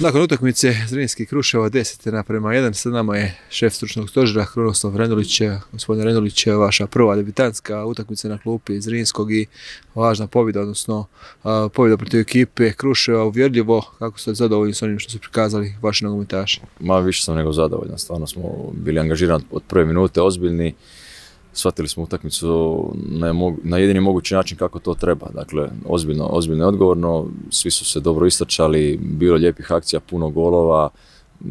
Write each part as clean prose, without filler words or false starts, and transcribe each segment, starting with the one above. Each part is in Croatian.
Nakon utakmice Zrinski Kruševo 10:1, sa nama je šef stručnog stožera Krunoslav Rendulić. Gospodin Rendulić, vaša prva debitanska utakmica na klupi Zrinskog i važna pobjeda, odnosno pobjeda protiv ekipe Kruševa, uvjerljivo. Kako ste zadovoljni s onim što su prikazali vaši nogometaši? Više sam nego zadovoljan, stvarno smo bili angažirani od prve minute, ozbiljni. Shvatili smo utakmicu na jedini mogući način kako to treba. Dakle, ozbiljno i odgovorno, svi su se dobro istrčali, bilo lijepih akcija, puno golova,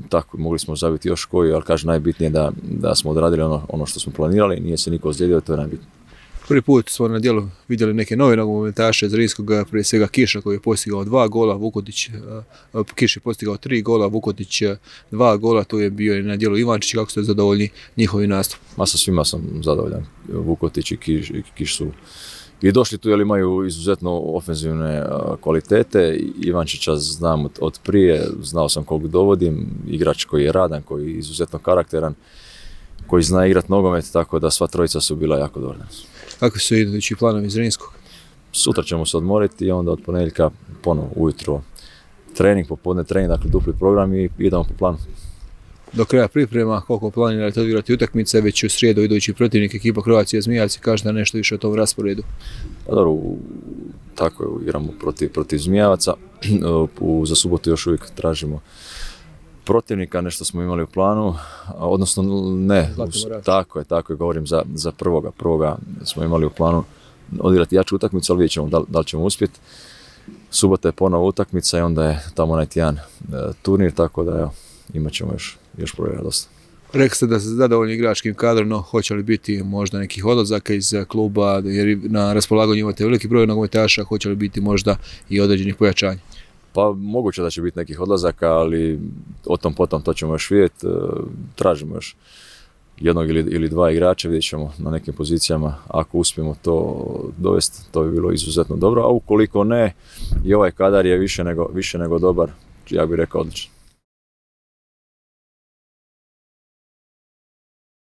tako mogli smo zabiti još koji, ali kažem najbitnije da smo odradili ono što smo planirali, nije se niko ozlijedio, to je najbitnije. Prvi put smo na djelu vidjeli neke nove nogometaše Zrinskog, prije svega Kiša koji je postigao 2 gola, Kiš je postigao 3 gola, Vukotić 2 gola, tu je bio i na djelu Ivančić. Kako ste zadovoljni njihovi nastup? Sa svima sam zadovoljan. Vukotić i Kiš su i došli tu jer imaju izuzetno ofenzivne kvalitete. Ivančića znam od prije, znao sam kog dovodim, igrač koji je radan, koji je izuzetno karakteran, koji zna igrati nogomet, tako da sva trojica su bila jako dobra. Kako su idući planovi Zrinskog? Sutra ćemo se odmoriti i onda od ponedjeljka ponovo ujutro trening, popodne trening, dakle dupli program i idemo po planu. Do kraja priprema, koliko planirate odigrati utakmice, već u srijedu idući protivnik ekipa Croatia Zmijavci, kažete nešto više o tom rasporedu? Pa dobro, tako je, igramo protiv Zmijavaca, za subotu još uvijek tražimo protivnika, nešto smo imali u planu, odnosno ne, tako je, govorim za prvoga smo imali u planu odigrati jaču utakmicu, ali vidjet ćemo da li ćemo uspjeti. Subota je ponovo utakmica i onda je tamo onaj tjedan turnir, tako da evo, imat ćemo još provjera dosta. Rekli ste da ste zadovoljni igračkim kadrom, no hoće li biti možda nekih odlazaka iz kluba, jer na raspolaganju imate veliki broj nogometaša, hoće li biti možda i određenih pojačanja? Pa moguće da će biti nekih odlazaka, ali o tom potom to ćemo još vidjeti. Tražimo još jednog ili dva igrača, vidjet ćemo na nekim pozicijama. Ako uspijemo to dovesti, to bi bilo izuzetno dobro, a ukoliko ne, i ovaj kadar je više nego dobar, ja bih rekao odličan.